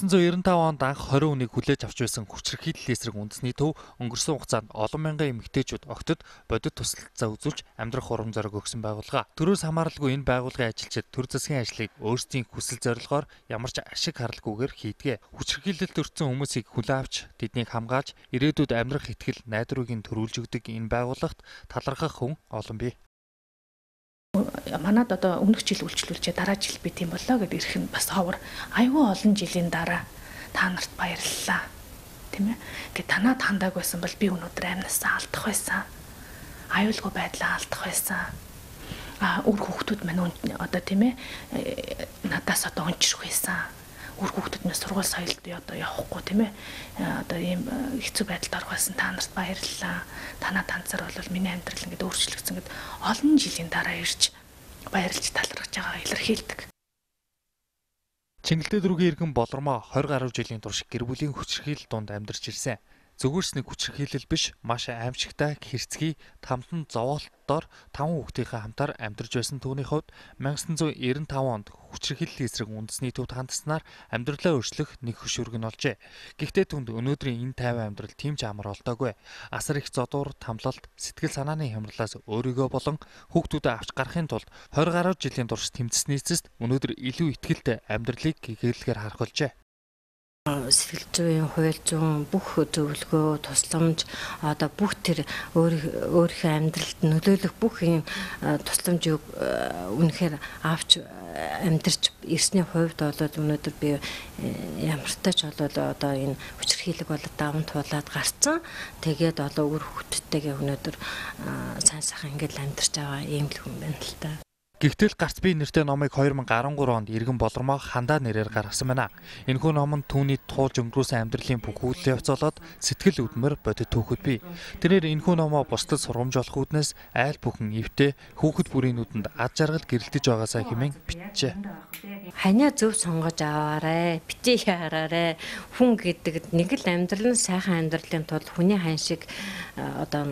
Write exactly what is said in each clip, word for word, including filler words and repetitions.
найман девятьсот девяносто пять онд анх тwenty хүнийг хүлээж авч байсан хүчирхийлэл эсрэг үндэсний төв өнгөрсөн хугацаанд олон мянган эмэгтэйчүүд огтод бодит тусалцаа үзүүлж амьдрах урам зориг өгсөн байгууллага. Төрөөс хамааралгүй энэ байгууллагын ажилчид төр засгийн ажлыг өөрсдийн хүсэл зорилгоор ямар ч ашиг харалгүйгээр хийдэг. Хүчирхийлэлд өртсөн хүмүүсийг хүлээн авч тэднийг хамгаалж ирээдүйд амьдрах итгэл найдварыг төрүүлж өгдөг энэ байгууллагт талархах хүн олон бий. Манад одоо өмнөх жил үйлчлүүлжээ дараа жил би тийм боллоо гэдээ ирэх нь бас ховор. Айгүй олон жилийн дараа та нарт баярлалаа. Тийм ээ. Гэ танаа тандаг байсан бол би өнөөдөр амнасаа алдах байсан. Аюулгүй байдлаа алдах байсан. А үр хүүхдүүд маань одоо тийм ээ надаас одоо унчрах байсан. Үр хүүхдүүд маань сургууль соёлд одоо явахгүй тийм ээ. Одоо ийм хэцүү байдалд орох байсан. Та нарт баярлалаа. Танаа танцаар бол миний амьдрал ингээд өөрчлөгдсөн гэд олон жилийн дараа ирж баярлж талархаж байгаа илэрхийлдэг. Чингэлтэй дөрвийн иргэн Болормоо twenty гаруй жилийн турш гэр бүлийн хүчирхийлэл донд амьдарч ирсэн. Зөвхөн нэг хүчирхийлэл биш, маш аимшигтай хэрцгий тамтан зовоолтоор таван хүүхдийнхээ хамтаар амьдарч байсан түүний хувьд nineteen ninety-five онд хүчирхийллийн эсрэг үндэсний төвд хандаснаар амьдралаа өөрчлөх нэг хөшүүрэг нь олжээ. Гэхдээ түнд өнөөдрийн энэ тайван амьдрал тийм ч амар болтоогүй. Асар их зодуур, тамлалт, сэтгэл санааны хямралаас өөрийгөө болон хүүхдүүдээ авч гарахын тулд twenty гаруй жилийн турш тэмцсэний эцэст өнөөдөр илүү ихтгэлтэй амьдралыг гэгээлгээр харах болжээ. Сэтгэл зүйн, хууль зүйн бүх зөвлөгөө, тусламж одоо бүх тэр өөрийнхөө амьдралд нөлөөлөх бүх юм тусламжийг үнэхээр авч амьдарч ирсний хувьд бол өнөөдөр би ямартай ч бол одоо энэ хүчирхийлэг бол даван туулаад гарцсан. Тэгээд одоо өөр хүүхдтэйгээ өнөөдөр сайн сайхан ингээд амьдарч байгаа юм л хүн байна л та. Гэхдээ гарц бие нэртэй номыг twenty13 онд иргэн Болормоо хандаа нэрээр гаргасан байна. Энэхүү ном нь түүний туулж өнгөрөөсөн амьдралын бүх үйл явц болоод сэтгэл хөдлөмөр бодит түүхэд бий. Тэрээр энэхүү номоо бусдад сургамж олох үүднээс айл бүхэн эвтэй хүүхэд бүрийн нүдэнд ад жаргал гэрэлтэж байгаасаа хэмээн бичжээ. Ханиа зөв сонгож аваарай, битгий хараарай. Хүн гэдэг нэг л амьдрал нь сайхан амьдралын тулд хүний хань шиг одоо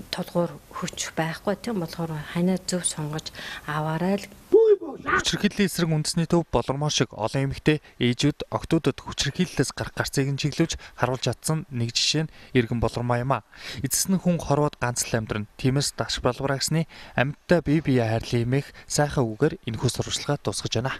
тулгуур хүч байхгүй тийм болохоор ханиа зөв сонгож аваарай л. Хүчирхийллийн эсрэг үндэсний төв Болормоо шиг олон эмэгтэй ээжүүд октоодод хүчирхийллээс гарах гарцыг нь чиглүүлж харуулж чадсан нэг жишээ нь иргэн Болормоо юм а. Эцэс нь хүн хорвоод ганц л амьдран тиймээс даш балбараагсны амьтдаа бие биеэ хайрлан эмээх сайхан үгээр энэхүү сурвалжлагаа дуусгаж байна.